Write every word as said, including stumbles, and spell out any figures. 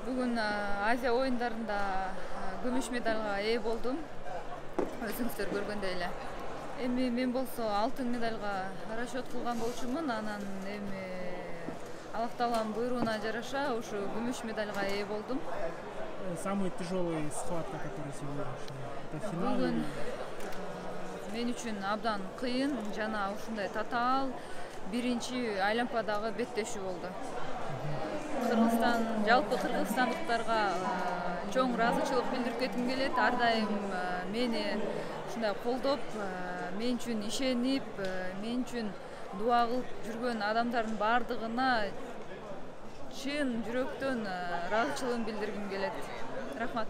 Бүгүн Азия оюндарында күмүш медалга ээ болдум. Өзүңүздөр көргөндөй эле. Эми мен болсо алтын медалга расчет кылган болчумун. Анан эми Аллах Тааланын буйругуна жараша ушу күмүш медалга ээ болдум. Самый тяжелый схватка, который сегодня. Это финал. Бүгүн мен үчүн абдан кыйын жана ушундай татаал биринчи айлампадагы беттешүү болду. Кыргызстан, жалпы кыргызстандыктарга чоң ыраазычылык билдирип кетким келет. Ар дайым мени ушундай колдоп, мен үчүн ишенип, мен үчүн дуа кылып жүргөн адамдардын баардыгына чын жүрөктөн ыраазычылыгымды билдиргим келет. Рахмат.